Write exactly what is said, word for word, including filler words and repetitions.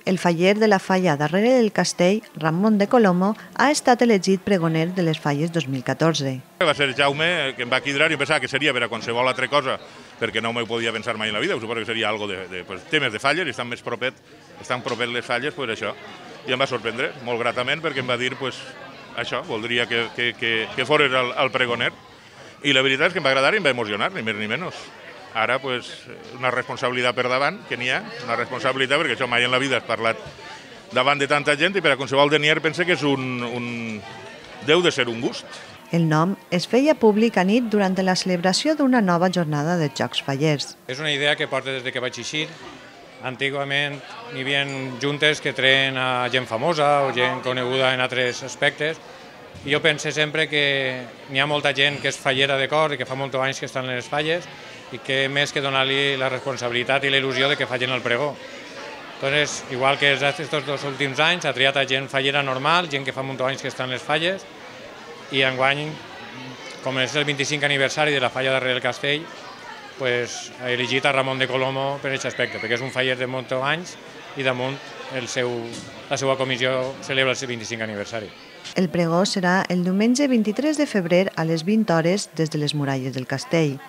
El faller de la falla darrere del castell, Ramon de Colomo, ha estat elegit pregoner de les falles dos mil catorze. Va ser Jaume que em va cridar i em pensava que seria per a qualsevol altra cosa, perquè no m'ho podia pensar mai en la vida, suposo que seria algo de, de pues, temes de falles, i estan més propet, estan propet les falles, pues això. I em va sorprendre molt gratament perquè em va dir, pues, això, voldria que, que, que, que fores el, el pregoner. I la veritat és que em va agradar i em va emocionar, ni més ni menys. Ara, pues, una responsabilitat per davant, que n'hi ha, una responsabilitat, perquè això mai en la vida has parlat davant de tanta gent i per a qualsevol denier pense que és un, un... deu de ser un gust. El nom es feia públic a nit durant la celebració d'una nova jornada de Jocs Fallers. És una idea que porta des que vaig eixir. Antigament hi havia juntes que treien a gent famosa o gent coneguda en altres aspectes. I jo pense sempre que n'hi ha molta gent que és fallera de cor i que fa molts anys que estan en les falles i que més que donar-li la responsabilitat i la il·lusió de que facin el pregó. Entonces, igual que aquests dos últims anys, ha triat a gent fallera normal, gent que fa molts anys que estan en les falles, i enguany, com és el vint-i-cinquè aniversari de la falla darrere del castell, pues, ha elegit a Ramon de Colomo per aquest aspecte, perquè és un faller de molts anys i damunt el seu, la seva comissió celebra el seu vint-i-cinquè aniversari. El pregó serà el diumenge vint-i-tres de febrer a les vint hores des de les muralles del castell.